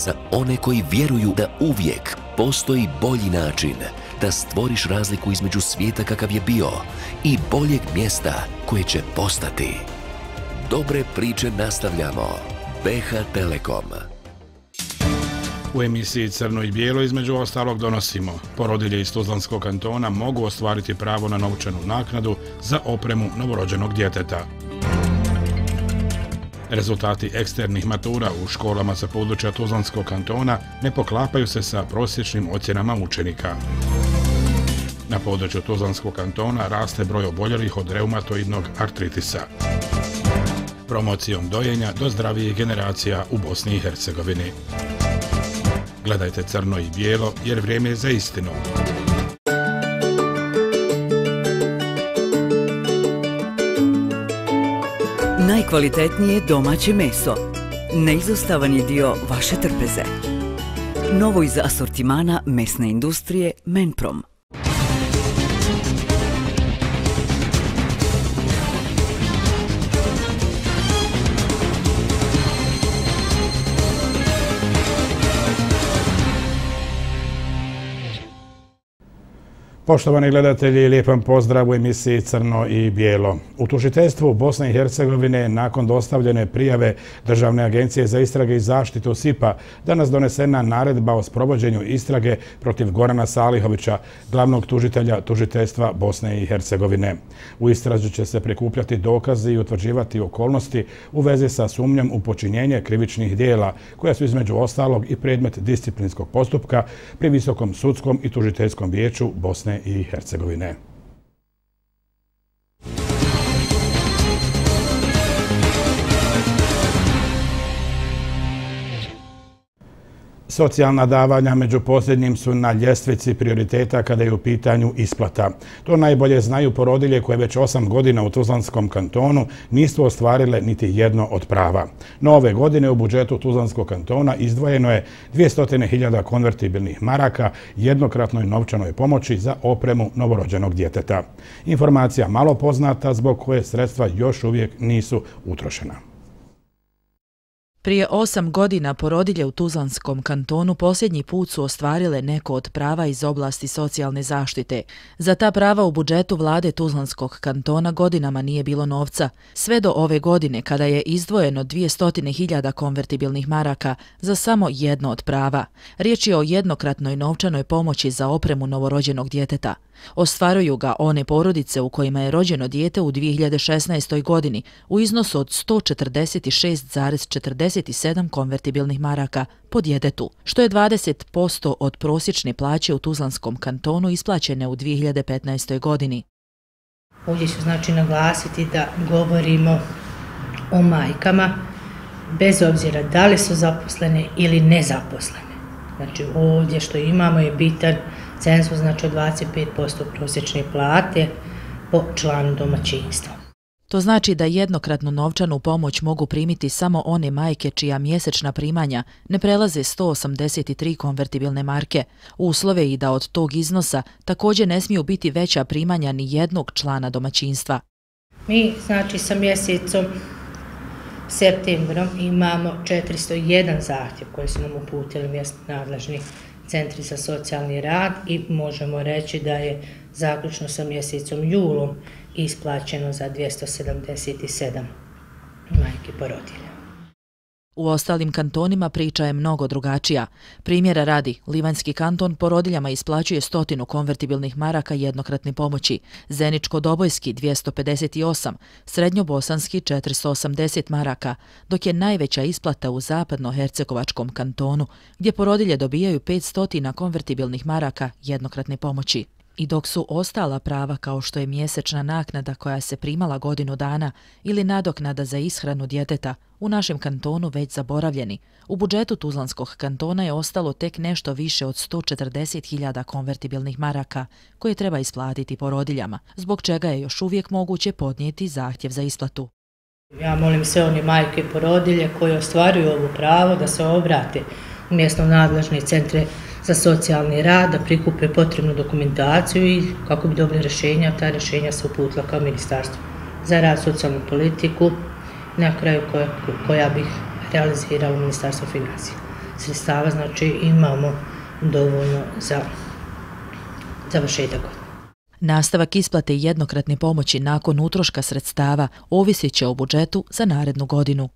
za one koji vjeruju da uvijek postoji bolji način da stvoriš razliku između svijeta kakav je bio i boljeg mjesta koje će postati. Dobre priče nastavljamo. BH Telekom. U emisiji Crno i bijelo između ostalog donosimo: porodilje iz Tuzlanskog kantona mogu ostvariti pravo na novčanu naknadu za opremu novorođenog djeteta. Rezultati eksternih matura u školama sa područja Tuzlanskog kantona ne poklapaju se sa prosječnim ocjenama učenika. Na području Tuzlanskog kantona raste broj oboljelih od reumatoidnog artritisa. Promocijom dojenja do zdravijih generacija u Bosni i Hercegovini. Gledajte Crno i bijelo jer vrijeme je za istinu. Najkvalitetnije domaće meso. Neizostavan je dio vaše trpeze. Novo iz asortimana mesne industrije Menprom. Poštovani gledatelji, lijepan pozdrav u emisiji Crno i bijelo. U tužiteljstvu Bosne i Hercegovine nakon dostavljene prijave Državne agencije za istrage i zaštitu SIP-a danas donesena naredba o sprovođenju istrage protiv Gorana Salihovića, glavnog tužitelja tužiteljstva Bosne i Hercegovine. U istrazi će se prikupljati dokazi i utvrđivati okolnosti u vezi sa sumnjom u počinjenje krivičnih dijela, koja su između ostalog i predmet disciplinskog postupka pri Visokom sudskom i tužiteljskom vijeću Bosne i Hercegovine. Socijalna davanja među posljednjim su na ljestvici prioriteta kada je u pitanju isplata. To najbolje znaju porodilje koje već 8 godina u Tuzlanskom kantonu nisu ostvarile niti jedno od prava. No ove godine u budžetu Tuzlanskog kantona izdvojeno je 200.000 konvertibilnih maraka jednokratnoj novčanoj pomoći za opremu novorođenog djeteta. Informacija malo poznata zbog koje sredstva još uvijek nisu utrošena. Prije 8 godina porodilje u Tuzlanskom kantonu posljednji put su ostvarile neko od prava iz oblasti socijalne zaštite. Za ta prava u budžetu vlade Tuzlanskog kantona godinama nije bilo novca, sve do ove godine kada je izdvojeno 200.000 konvertibilnih maraka za samo jedno od prava. Riječ je o jednokratnoj novčanoj pomoći za opremu novorođenog djeteta. Ostvaruju ga one porodice u kojima je rođeno dijete u 2016. godini u iznosu od 146,47 konvertibilnih maraka po djetetu, što je 20% od prosječne plaće u Tuzlanskom kantonu isplaćene u 2015. godini. Ovdje ću naglasiti da govorimo o majkama bez obzira da li su zaposlene ili nezaposlene. Ovdje što imamo je bitan cenzus, od 25% prosječne plate po članu domaćinstva. To znači da jednokratnu novčanu pomoć mogu primiti samo one majke čija mjesečna primanja ne prelaze 183 konvertibilne marke. Uslove i da od tog iznosa također ne smiju biti veća primanja ni jednog člana domaćinstva. Mi sa mjesecom septembrom imamo 401 zahtjev koji su nam uputili mjesni nadležni centri za socijalni rad i možemo reći da je zaključno sa mjesecom julom isplaćeno za 277 majki porodilja. U ostalim kantonima priča je mnogo drugačija. Primjera radi, Livanjski kanton porodiljama isplaćuje 100 konvertibilnih maraka jednokratne pomoći, Zeničko-Dobojski 258, Srednjobosanski 480 maraka, dok je najveća isplata u Zapadno-Hercegovačkom kantonu, gdje porodilje dobijaju 500 konvertibilnih maraka jednokratne pomoći. I dok su ostala prava kao što je mjesečna naknada koja se primala godinu dana ili nadoknada za ishranu djeteta u našem kantonu već zaboravljeni, u budžetu Tuzlanskog kantona je ostalo tek nešto više od 140.000 konvertibilnih maraka koje treba isplatiti porodiljama, zbog čega je još uvijek moguće podnijeti zahtjev za isplatu. Ja molim sve one majke i porodilje koje ostvaruju ovo pravo da se obrate u mjesno nadležne centre za socijalni rad, da prikupe potrebnu dokumentaciju i kako bi dobili rješenja, ta rješenja se uputila kao Ministarstvo za rad, socijalnu politiku, na kraju koja bi realiziralo Ministarstvo financija. sredstava, znači imamo dovoljno za završetak godine. Nastavak isplate jednokratne pomoći nakon utroška sredstava ovisit će o budžetu za narednu godinu.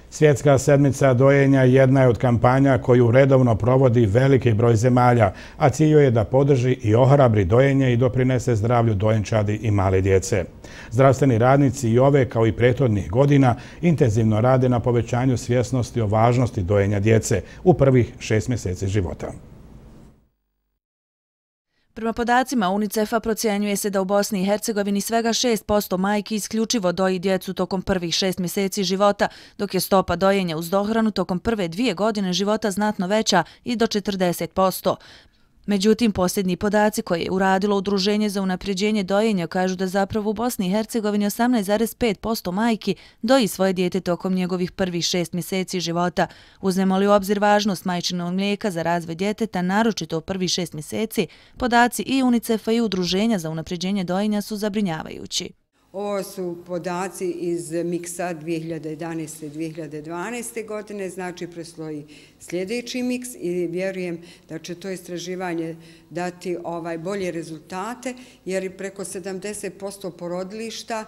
Svjetska sedmica dojenja jedna je od kampanja koju redovno provodi veliki broj zemalja, a cilj je da podrži i ohrabri dojenje i doprinese zdravlju dojenčadi i male djece. Zdravstveni radnici i ove, kao i prethodnih godina, intenzivno rade na povećanju svjesnosti o važnosti dojenja djece u prvih 6 mjeseci života. Prema podacima UNICEF-a procjenjuje se da u Bosni i Hercegovini svega 6% majki isključivo doji djecu tokom prvih 6 mjeseci života, dok je stopa dojenja uz dohranu tokom prve 2 godine života znatno veća i do 40%. Međutim, posljednji podaci koje je uradilo Udruženje za unapređenje dojenja kažu da zapravo u Bosni i Hercegovini 18,5% majki doji svoje dijete tokom njegovih prvih 6 mjeseci života. Uzmemo li u obzir važnost majčinog mlijeka za razvoj djeteta, naročito u prvih 6 mjeseci, podaci i UNICEF-a i Udruženja za unapređenje dojenja su zabrinjavajući. Ovo su podaci iz miksa 2011. i 2012. godine, znači predstoji sljedeći miks i vjerujem da će to istraživanje dati bolje rezultate, jer preko 70% porodilišta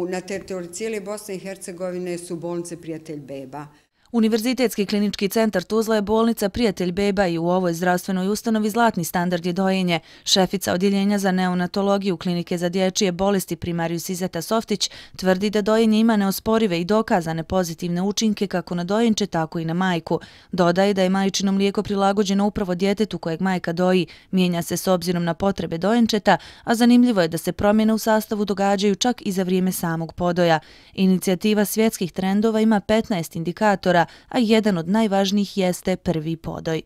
na teritoriji cijele Bosne i Hercegovine su bolnice Prijatelj beba. Univerzitetski klinički centar Tuzla je bolnica Prijatelj beba i u ovoj zdravstvenoj ustanovi zlatni standard je dojenje. Šefica odjeljenja za neonatologiju klinike za dječje bolesti primarijus Izeta Softić tvrdi da dojenje ima neosporive i dokazane pozitivne učinke kako na dojenče, tako i na majku. Dodaje da je majčino mlijeko prilagođeno upravo djetetu kojeg majka doji, mijenja se s obzirom na potrebe dojenčeta, a zanimljivo je da se promjene u sastavu događaju čak i za vrijeme samog podoja. Inicijativa svjetskih trendova ima 15 indikatora, a jedan od najvažnijih jeste prvi podoj.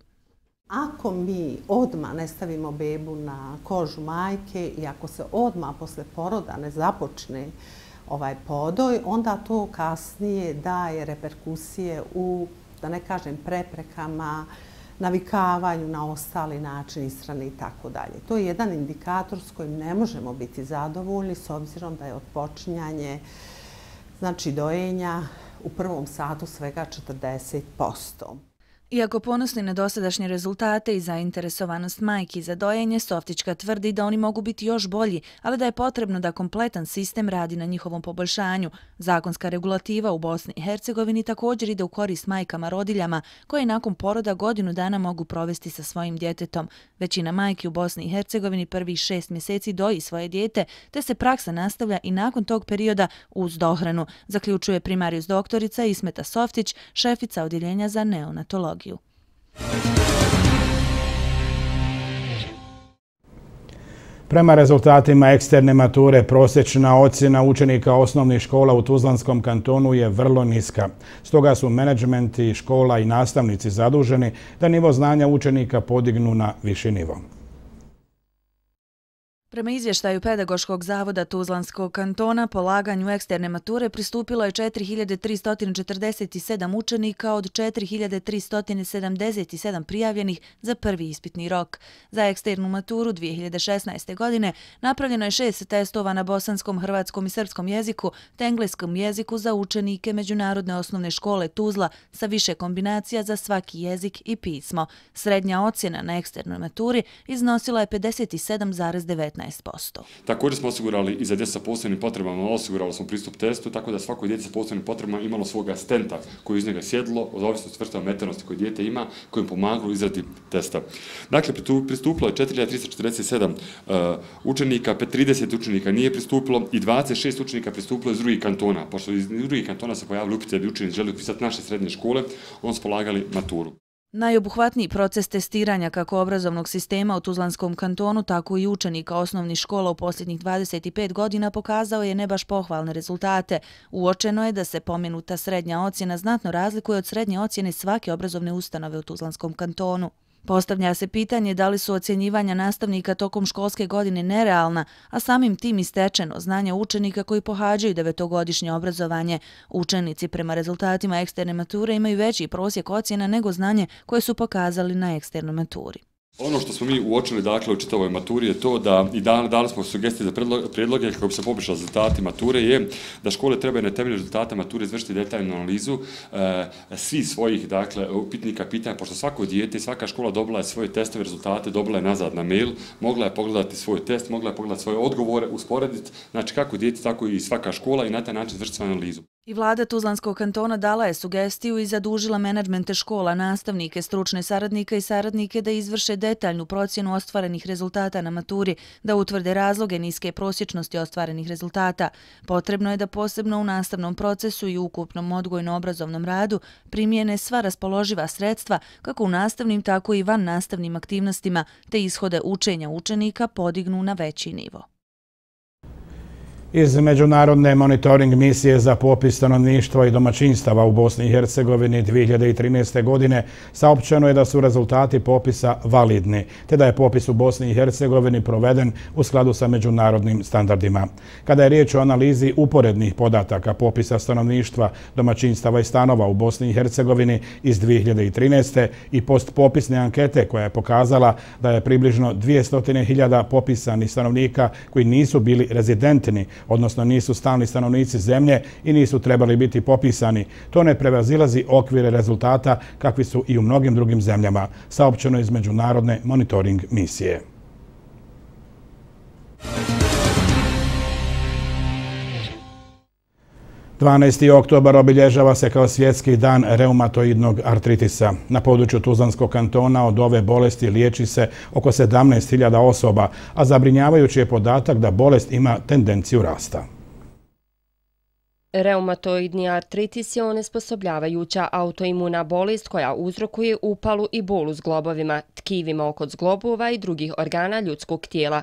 Ako mi odmah ne stavimo bebu na kožu majke i ako se odmah posle poroda ne započne podoj, onda to kasnije daje reperkusije u, da ne kažem, preprekama, navikavanju na ostali način ishrane i tako dalje. To je jedan indikator s kojim ne možemo biti zadovoljni s obzirom da je odpočinjanje, znači dojenja, u prvom satu svega 40%. Iako ponosni na dosadašnje rezultate i zainteresovanost majki za dojenje, Softićka tvrdi da oni mogu biti još bolji, ali da je potrebno da kompletan sistem radi na njihovom poboljšanju. Zakonska regulativa u Bosni i Hercegovini također ide u korist majkama rodiljama, koje nakon poroda godinu dana mogu provesti sa svojim djetetom. Većina majki u Bosni i Hercegovini prvih 6 mjeseci doji svoje dijete, te se praksa nastavlja i nakon tog perioda uz dohranu, zaključuje primarijus doktorica Ismeta Softić, šefica odjeljenja za neonatologiju. Prema rezultatima eksterne mature, prosječna ocjena učenika osnovnih škola u Tuzlanskom kantonu je vrlo niska. Stoga su menadžmenti škola i nastavnici zaduženi da nivo znanja učenika podignu na viši nivo. Prema izvještaju Pedagoškog zavoda Tuzlanskog kantona, polaganju eksterne mature pristupilo je 4347 učenika od 4377 prijavljenih za prvi ispitni rok. Za eksternu maturu 2016. godine napravljeno je 6 testova na bosanskom, hrvatskom i srpskom jeziku te engleskom jeziku za učenike Međunarodne osnovne škole Tuzla sa više kombinacija za svaki jezik i pismo. Srednja ocjena na eksternoj maturi iznosila je 57,19%. Također smo osigurali i za djecu sa posebnim potrebama, osigurali smo pristup testu, tako da svako dijete sa posebnim potrebama imalo svog asistenta koji iz njega sjedilo, od ovisnosti vrsta meteornosti koje dijete ima, kojim pomagalo u izradi testa. Dakle, pristupilo je 4347 učenika, 30 učenika nije pristupilo i 26 učenika pristupilo iz drugih kantona. Pošto iz drugih kantona se pojavili upite da bi učenici želi upisati naše srednje škole, onda su polagali maturu. Najobuhvatniji proces testiranja kako obrazovnog sistema u Tuzlanskom kantonu, tako i učenika osnovnih škola u posljednjih 25 godina pokazao je ne baš pohvalne rezultate. Uočeno je da se pomenuta srednja ocjena znatno razlikuje od srednje ocjene svake obrazovne ustanove u Tuzlanskom kantonu. Postavlja se pitanje da li su ocjenjivanja nastavnika tokom školske godine nerealna, a samim tim i stečeno znanje učenika koji pohađaju 9-godišnje obrazovanje. Učenici prema rezultatima eksterne mature imaju veći prosjek ocjena nego znanje koje su pokazali na eksternoj maturi. Ono što smo mi uočili dakle, u čitavoj maturi je to da i dali smo sugestije za predloge kako bi se poboljšali rezultati mature je da škole trebaju na temelju rezultata mature izvršiti detaljnu analizu svih svojih dakle, upitnika pitanja, pošto svako dijete i svaka škola dobila je svoje testove rezultate, dobila je nazad na mail, mogla je pogledati svoj test, mogla je pogledati svoje odgovore, usporediti, znači kako dijete, tako i svaka škola i na taj način izvršiti svoju analizu. I vlada Tuzlanskog kantona dala je sugestiju i zadužila menadžmente škola, nastavnike, stručne saradnike i saradnike da izvrše detaljnu procjenu ostvarenih rezultata na maturi, da utvrde razloge niske prosječnosti ostvarenih rezultata. Potrebno je da posebno u nastavnom procesu i ukupnom odgojno-obrazovnom radu primijene sva raspoloživa sredstva kako u nastavnim, tako i van nastavnim aktivnostima, te ishode učenja učenika podignu na veći nivo. Iz Međunarodne monitoring misije za popis stanovništva i domaćinstava u Bosni i Hercegovini 2013. godine saopćeno je da su rezultati popisa validni, te da je popis u Bosni i Hercegovini proveden u skladu sa međunarodnim standardima. Kada je riječ o analizi uporednih podataka popisa stanovništva, domaćinstava i stanova u Bosni i Hercegovini iz 2013. i postpopisne ankete koja je pokazala da je približno 200.000 popisanih stanovnika koji nisu bili rezidentni, odnosno nisu stalni stanovnici zemlje i nisu trebali biti popisani. To ne prevazilazi okvire rezultata kakvi su i u mnogim drugim zemljama, saopćeno iz Međunarodne monitoring misije. Oktobar obilježava se kao svjetski dan reumatoidnog artritisa. Na području Tuzlanskog kantona od ove bolesti liječi se oko 17.000 osoba, a zabrinjavajući je podatak da bolest ima tendenciju rasta. Reumatoidni artritis je onesposobljavajuća autoimuna bolest koja uzrokuje upalu i bol u zglobovima, tkivima oko zglobova i drugih organa ljudskog tijela.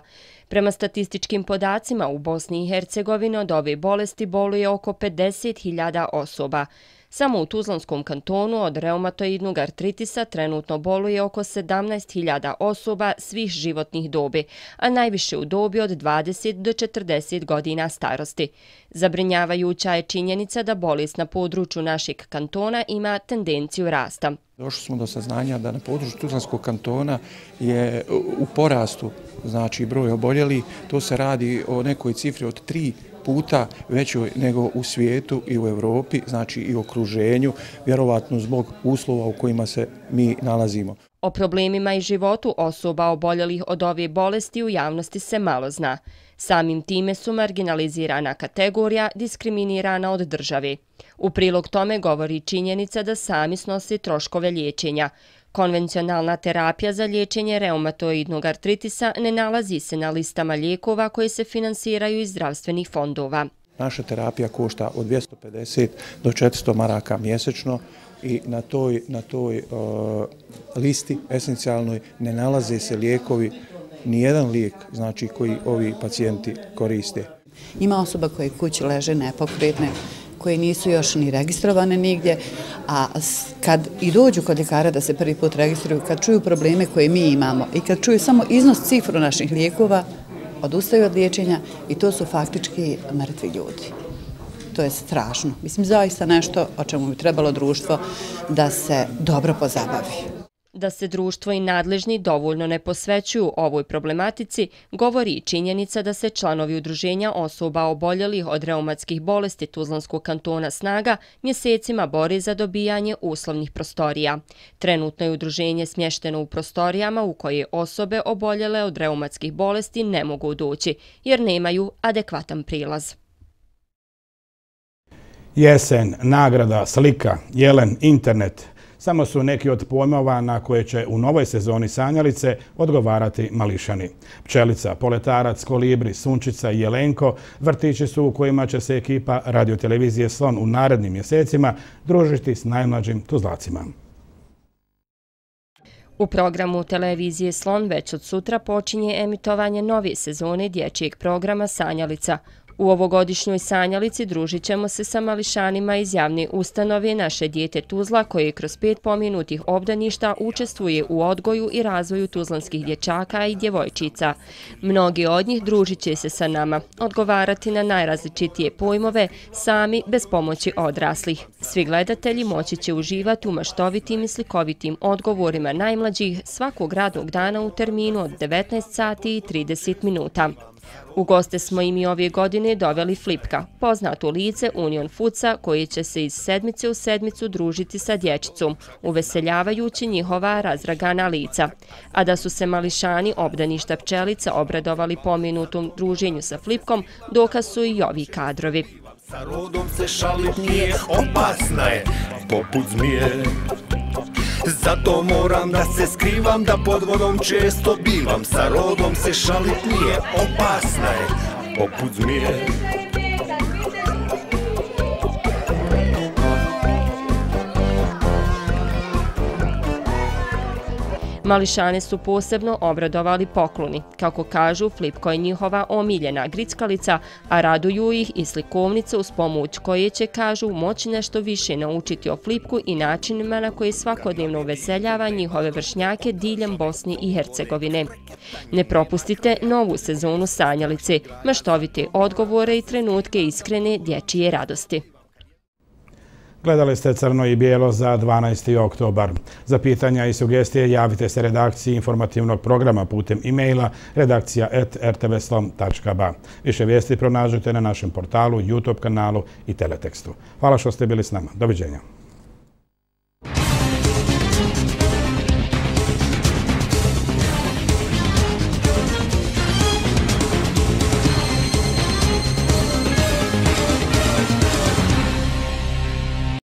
Prema statističkim podacima u Bosni i Hercegovini od ove bolesti boluje oko 50.000 osoba. Samo u Tuzlanskom kantonu od reumatoidnog artritisa trenutno boluje oko 17.000 osoba svih životnih dobi, a najviše u dobi od 20 do 40 godina starosti. Zabrinjavajuća je činjenica da bolest na području našeg kantona ima tendenciju rasta. Došli smo do saznanja da na području Tuzlanskog kantona je u porastu, znači broj oboljelih, to se radi o nekoj cifri od 3 puta većoj nego u svijetu i u Europi, znači i u okruženju, vjerovatno zbog uslova u kojima se mi nalazimo. O problemima i životu osoba oboljelih od ove bolesti u javnosti se malo zna. Samim time su marginalizirana kategorija, diskriminirana od države. U prilog tome govori činjenica da sami snose troškove liječenja. Konvencionalna terapija za liječenje reumatoidnog artritisa ne nalazi se na listama lijekova koje se finansiraju iz zdravstvenih fondova. Naša terapija košta od 250 do 400 maraka mjesečno i na toj listi esencijalnoj ne nalaze se lijekovi, nijedan lijek znači, koji ovi pacijenti koriste. Ima osoba koje kući leže nepokretne, koje nisu još ni registrovane nigdje, a kad i dođu kod ljekara da se prvi put registruju, kad čuju probleme koje mi imamo i kad čuju samo iznos cifru naših lijekova, odustaju od liječenja i to su faktički mrtvi ljudi. To je strašno. Mislim, zaista nešto o čemu bi trebalo društvo da se dobro pozabavi. Da se društvo i nadležni dovoljno ne posvećuju ovoj problematici, govori i činjenica da se članovi udruženja osoba oboljelih od reumatskih bolesti Tuzlanskog kantona Snaga mjesecima bori za dobijanje uslovnih prostorija. Trenutno je udruženje smješteno u prostorijama u koje osobe oboljele od reumatskih bolesti ne mogu doći, jer nemaju adekvatan prilaz. Jesen, nagrada, slika, jelen, internet – samo su neki od pojmova na koje će u novoj sezoni Sanjalice odgovarati mališani. Pčelica, poletarac, kolibri, sunčica i jelenko vrtići su u kojima će se ekipa radiotelevizije Slon u narednim mjesecima družiti s najmlađim Tuzlacima. U programu televizije Slon već od sutra počinje emitovanje nove sezone dječjeg programa Sanjalica. U ovogodišnjoj sanjalici družit ćemo se sa mališanima iz javne ustanove Naše dijete Tuzla, koje kroz 5 pomenutih obdaništa učestvuje u odgoju i razvoju tuzlanskih dječaka i djevojčica. Mnogi od njih družit će se sa nama, odgovarati na najrazličitije pojmove, sami bez pomoći odraslih. Svi gledatelji moći će uživati u maštovitim i slikovitim odgovorima najmlađih svakog radnog dana u terminu od 19 sati i 30 minuta. U goste smo im i ove godine doveli Flipka, poznato lice Union Foodsa, koji će se iz sedmice u sedmicu družiti sa dječicom, uveseljavajući njihova razragana lica. A da su se mališani obdaništa Pčelica obradovali pomenutom druženju sa Flipkom, dokaz su i ovi kadrovi. Sa rodom se šalit nije, opasna je, poput zmije. Zato moram da se skrivam, da pod vodom često bivam. Sa rodom se šalit nije, opasna je, poput zmije. Mališane su posebno obradovali pokloni. Kako kažu, Flipko je njihova omiljena grickalica, a raduju ih i slikovnice uz pomoć koje će, kažu, moći nešto više naučiti o Flipku i načinima na koji svakodnevno uveseljava njihove vršnjake diljem Bosne i Hercegovine. Ne propustite novu sezonu sanjalice, maštovite odgovore i trenutke iskrene dječje radosti. Gledali ste Crno i bijelo za 12. oktobar. Za pitanja i sugestije javite se redakciji informativnog programa putem e-maila redakcija@rtvslom.ba. Više vijesti pronađite na našem portalu, YouTube kanalu i teletekstu. Hvala što ste bili s nama. Doviđenja.